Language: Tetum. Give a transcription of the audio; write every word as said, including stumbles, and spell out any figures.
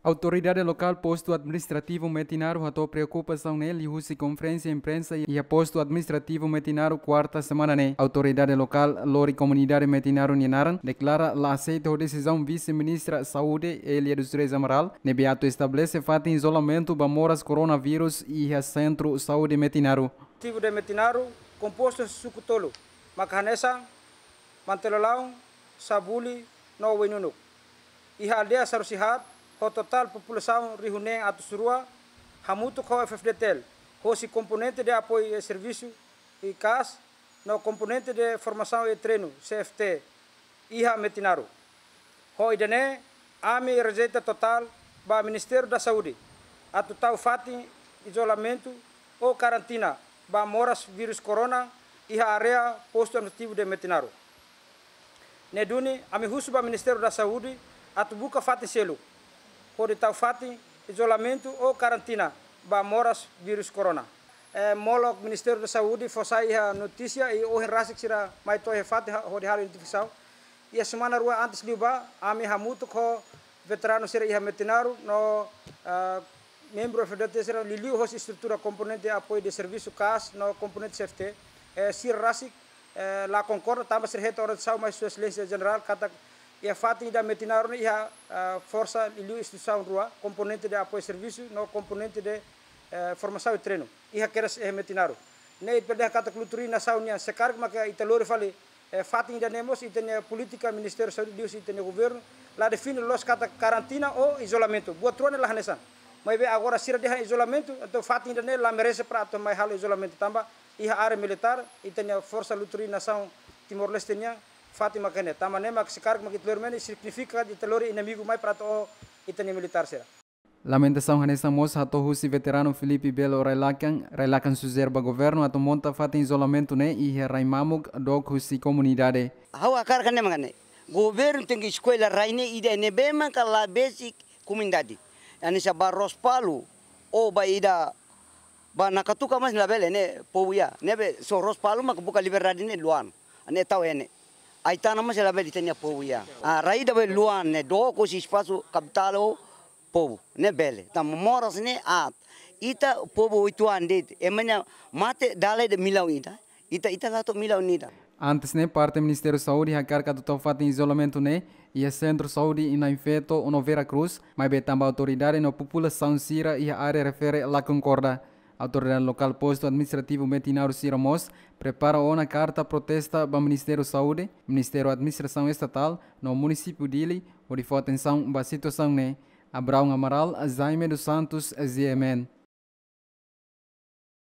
Autoridade lokál postu administrativu Metinaro hato'o preokupasaun ne'e liuhusi konferénsia imprensa iha postu administrativu Metinaro kuarta semana ne'e. Autoridade lokál lori komunidade Metinaro nia naran deklara la aseita ho desizaun vise-ministra saúde Elia dos Reis Amaral ne'ebé atu estabelese fatin izolamentu ba moras koronavírus iha sentru saúde Metinaro. Tibu de Metinaro kompostu suku tolu, maka hanesan Mantelolaun, Sabuli no Wainunuk. Iha aldeia Sarusihat, ho totál populasaun rihun neen atus rua, hamutuk ho F F D T L, hosi komponente de apoiu e servisu, i kas, no komponente de formasaun e treinu, C F T, iha Metinaro. Ho ida-ne'e, ami rejeita totál ba Ministériu da Saúde atu tau fatin izolamentu ou karantina ba moras vírus corona iha área postu administrativu de Metinaro. Ne'e duni, ami husu ba Ministériu da Saúde atu buka fatin seluk hodi tau fatin izolamentu ou karantina ba moras vírus corona. Eh, molok Ministériu da Saúde fó sai iha notísia i ohin rasik sira mai to'o iha fatin ha-, hodi halo identifikasaun. Iha semana rua antes liubá, ami hamutuk ho veteranu sira iha Metinaro no, ah, membru F F D T sira liuliu hosi estrutura komponente apoiu de servisu kas no komponente C F T, eh, sira rasik, eh, la konkorda tanba sira hetan orientasaun mai Sua Exelénsia Jenerál katak iha fatin ida Metinaro ne'e iha, eh, forsa liuliu instituisaun rua, komponente de apoiu servisu no komponente de, eh, formasaun i treinu. Iha kedas iha Metinaro. Ne'e ita bele dehan katak Luturin nasaun nian, se karik maka ita lori fali, eh, fatin ida-ne'e mós ita-nia polítika Ministériu Saúde liuhusi ita-nia governu la define loos katak karantina ou izolamentu. Buat rua ne'e la hanesan. Maibé agora sira dehan izolamentu, entaun fatin ida-ne'e la merese para atu mai halo izolamentu tanba iha área militár, ita-nia forsa Luturin nasaun Timor-Leste nian, fatin maka ne'e. Tanba ne'e maka se karik maka ita lori mai ne'e signifika ita lori inimigu mai para atu oho ita-nia militár sira. Lamentasaun hanesan mós hato'o husi veteranu Filipe Belo Railakan, Railakan sujere ba governu atu monta fatin izolamentu ne'e iha rai mamuk dook husi komunidade. Ha'u hakarak ne'e mak ne'e. Governu tenke eskolla rai ne'e ida ne'ebé maka la besik komunidade. Hanesan ba Rospalu, ou ba ida, ba Nakatuka mós labele ne'e povu iha. Ne'ebé só Rospalu maka buka liberdade ne'e Luan. Ne'e tau iha ne'e. Aitana mós labele ita-nia povu iha. Ah, rai ida be Luan ne'e dook husi espasu kapitál ou povu ne'e bele. Tanba moras ne'e aat. Ita povu oituan de'it. Ema nia mate dala ida millaun ida. Ita, ita la to'o millaun ida. Antes ne'e parte Ministériu Saúde hakarak atu tau fatin izolamentu ne'e iha Sentru Saúde Inain Feto no Vera Cruz, maibé tanba autoridade no populasaun sira iha área refere la konkorda. Autoridade lokál postu administrativu Metinaro sira mós prepara ona karta protesta ba Ministériu Saúde, Ministériu Administrasaun Estatál no Munisípiu Dili, hodi fó atensaun ba situasaun ne'e. Abraão Amaral, Jaime dos Santos, G M N.